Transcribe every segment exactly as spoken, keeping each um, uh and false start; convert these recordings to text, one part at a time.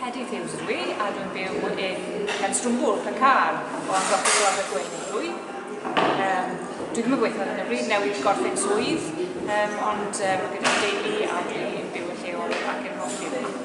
Hedydd Hughes ydw i, a dwi'n byw yn Llanstwmbwl, Pencar, ond roedd o Abergwein ydw i. Um, dwi ddim yn gweithio ar hyn o bryd, newydd gorffen swydd, um, ond um, gyda deulu a dwi'n byw yn lleol ac yn hoffi yma.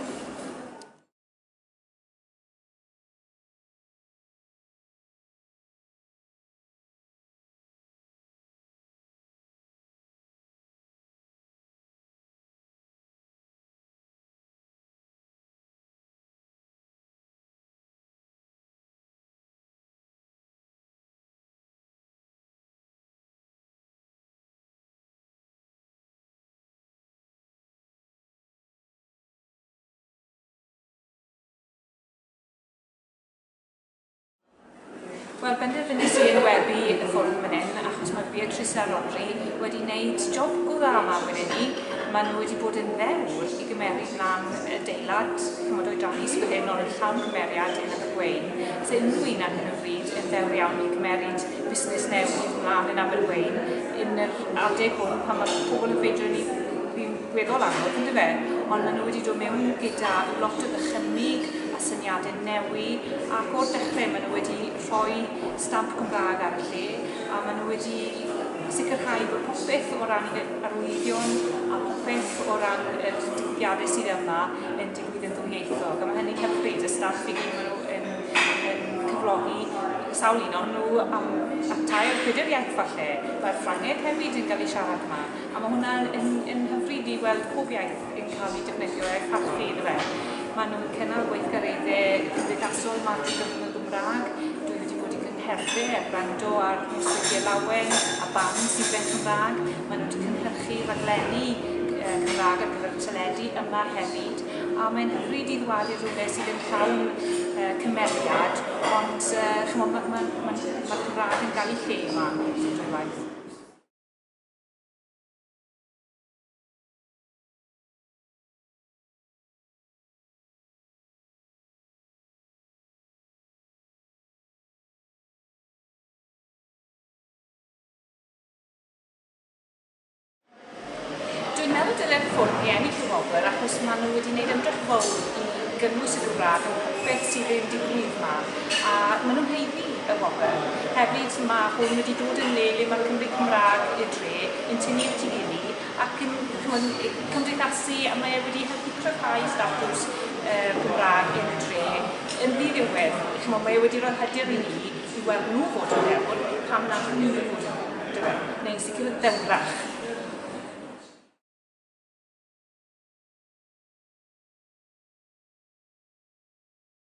Wel, benderfynais i enwebu y fforwm fan hyn achos mae Beatrice a Rodri wedi wneud job go dda yma fan hyn. Maen nhw wedi bod yn ddewr i gymeryd lan adeilad chymod oedrannus fan hyn, ond yn llawn cymeriad yn Abergwein. So unrhyw un ar hyn o bryd yn ddewr iawn i gymeryd busnes newydd mlaen yn Abergwein yn yr adeg hwn pan mae pobl yn ffeindio ni fi'n weddol anodd, yndyfe? Ond maen nhw wedi dod mewn gyda lot o ddychymyg a syniadau newydd, ac o'r dechrau maen nhw wedi rhoi stamp Cymraeg ar y lle, a maen nhw wedi sicrhau bod popeth o ran arwyddion a popeth o ran y digwyddiadau sydd yma yn digwydd yn ddwyieithog. A mae hynny'n hyfryd, y staff i gyd maen nhw yn, yn cyflogi sawl un o'n nhw am, am tair, pedair iaith falle. Mae'r Ffrangeg hefyd yn cael ei siarad yma, a mae hwnna'n yn, yn hyfryd i weld pob iaith yn cael ei defnyddio a'i pharchu iddo fe. Maen nhw'n cynnal gweithgareddau cymdeithasol yma drwy gyfrwng y Gymraeg. Dwi wedi bod i cyngherddau a gwrando ar nosweithiau lawen a band sydd yn Cymraeg. Maen nhw wedi cynhyrchu rhaglenni Cymraeg ar gyfer teledu yma hefyd. A mae'n hyfryd i ddwad i rhywle sydd yn llawn uh, cymeriad, ond uh, chymod, mae'r ma, ma, ma, ma Cymraeg yn cael ei lle yma drwy waith. Dwi'n meddwl dyle'r ffwrdd i ennill y wobr achos maen nhw wedi gwneud ymdrech fawr i gynnwys y Gymraeg yn popeth sydd yn digwydd yma, a maen nhw'n haeddu y wobr. Hefyd mae hwn wedi dod yn le le mae'r Cymry Cymraeg y dre yn tynnu at ei gilydd ac yn cymdeithasu, a mae e wedi helpu cryfhau statws uh, Gymraeg yn y dre yn ddiddiwedd. Chymod, mae e wedi rhoi hyder i ni i weld nhw fod yn ddewr, pam nad ni fod yn ddewr, neu'n sicr yn ddewrach.